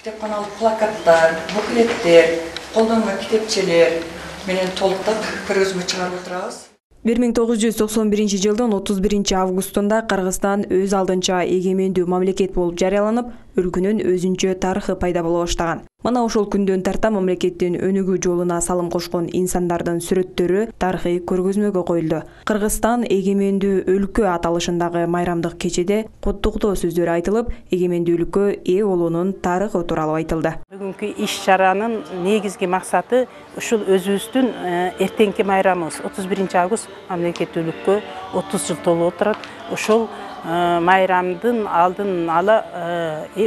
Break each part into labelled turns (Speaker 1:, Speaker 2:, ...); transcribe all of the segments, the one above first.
Speaker 1: Китепканалык плакаттар, буклеттер, колдонма китепчелер менен толуктап көргөзмө чыгарып отурабыз.
Speaker 2: 1991 жылдын 31 августунда Кыргызстан өз алдынча эгемендүү мамлекет болуп жарыяланып, өлкөнүн өзүнчө тарыхы пайда боло баштаган. Мына ошол күндөн тарта мамлекеттин өнүгүү жолуна салым кошкон инсандардын сүрөттөрү тарыхый көргөзмөгө коюлду. Кыргызстан эгемендүү өлкө аталышындагы майрамдык кечеде куттуктоо сөздөр айтылып, эгемендүүлүккө ээ болуунун тарыхы тууралуу айтылды.
Speaker 3: Бүгүнкү иш-чаранын негизги максаты ушул өзүбүздүн эртеңки майрамыбыз 31 август мамлекеттүүлүккө 30 жыл толуп отурат. Ошол майрамдын алдын ала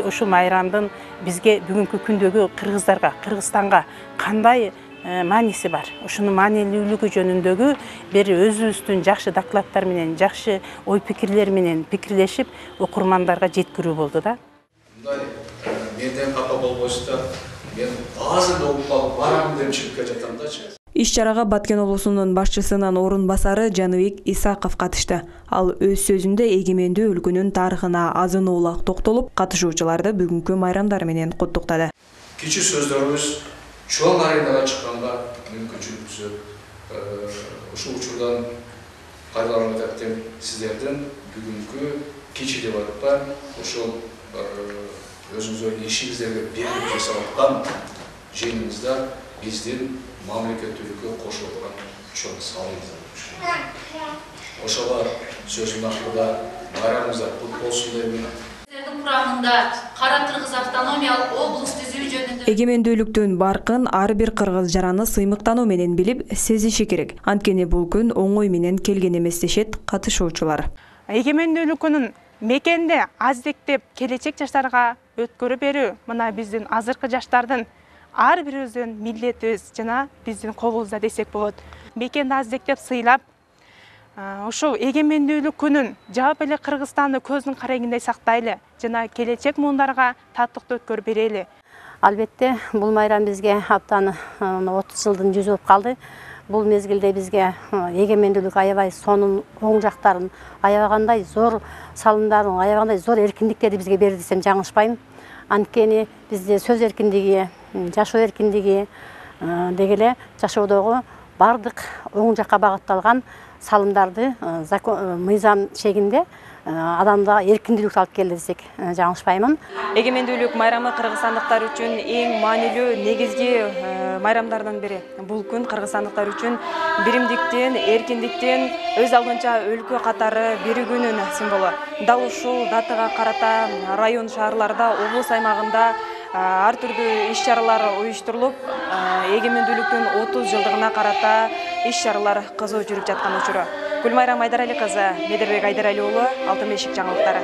Speaker 3: ошол майрамдын бизге бүгүнкү күндөгү кыргыздарга, Кыргызстанга кандай мааниси бар? Ушунун маанилүүлүгү жөнүндөгү бир өзүбүздүн жакшы докладдар менен, жакшы ой пикирлер менен пикирлешип, окурмандарга жеткирүү болду да.
Speaker 4: Мындай менден капа болбойсуздар. Мен азыр окуп алып барам деп чыгып жатамдачы.
Speaker 2: Иш-чарага Баткен облусунун башчысынын орун басары Жаныбек Исаков катышты. Ал өз сөзүндө эгемендүү өлкөнүн тарыхына азын-оолак токтолуп, катышуучуларды бүгүнкү майрамдар менен куттуктады.
Speaker 4: Кичи сөздөрүбүз чоң аренага чыкканга мүмкүнчүлүк түзөт. Ушул учурдан кайрылып атам сиздердин бүгүнкү кичи деп атпа, ошол өзүңүздөрдүн ишиңиздерге берип жасап аткан жеңиңиздар биздин мамлекеттүүлүккө кошуп аткан чоң салымыңыздар. Ошого сөзүм акырда байрамыңыздар кут болсун дейм.
Speaker 5: Сиздердин курамында Кара Кыргыз автономиялык облус түзүү жөнүндө
Speaker 2: эгемендүүлүктүн баркын ар бир кыргыз жараны сыймыктануу менен билип, сезиши керек. Анткени бул күн оңой менен келген эмес дешет катышуучулар.
Speaker 6: Эгемендүүлүккүнүн мекенде аздектеп келечек жаштарга өткөрүп берүү мына биздин азыркы жаштардын ар бирибиздин милдетибиз жана биздин колубузда десек болот. Мекенди аздектеп сыйлап, ошол эгемендүүлүк күнүн жаап эле Кыргызстанды көздүн карегиндей сактайлы жана келечек муундарга татыктуу өткөрүп берели.
Speaker 7: Албетте, бул майрам бизге аптаны 30 жылдын жүзү болуп калды. Бул мезгилде бизге эгемендүүлүк аябай сонун оң жактарын, аябагандай зор салымдарын, аябагандай зор эркиндиктерди бизге берди десем жаңылышпайм. Анткени бизде сөз эркиндиги, жашоо эркиндиги деги эле жашоодогу бардык оң жакка багытталган салымдарды мыйзам чегинде адамга эркиндүүлүк алып келди десек жаңылышпаймын.
Speaker 2: Эгемендүүлүк майрамы кыргызстандыктар үчүн эң маанилүү негизги майрамдардын бири. Бул күн кыргызстандыктар үчүн биримдиктин, эркиндиктин, өз алдынча өлкө катары биригүүнүн символу. Дал ушул датага карата район шаарларда, облус аймагында ар түрдүү иш-чаралар уюштурулуп, эгемендүүлүктүн 30 жылдыгына карата иш-чаралар кызуу жүрүп жаткан учуру. Гүлмайра Айдарали кызы, Медербек Айдарали уулу, Алтын бешик жаңылыктары.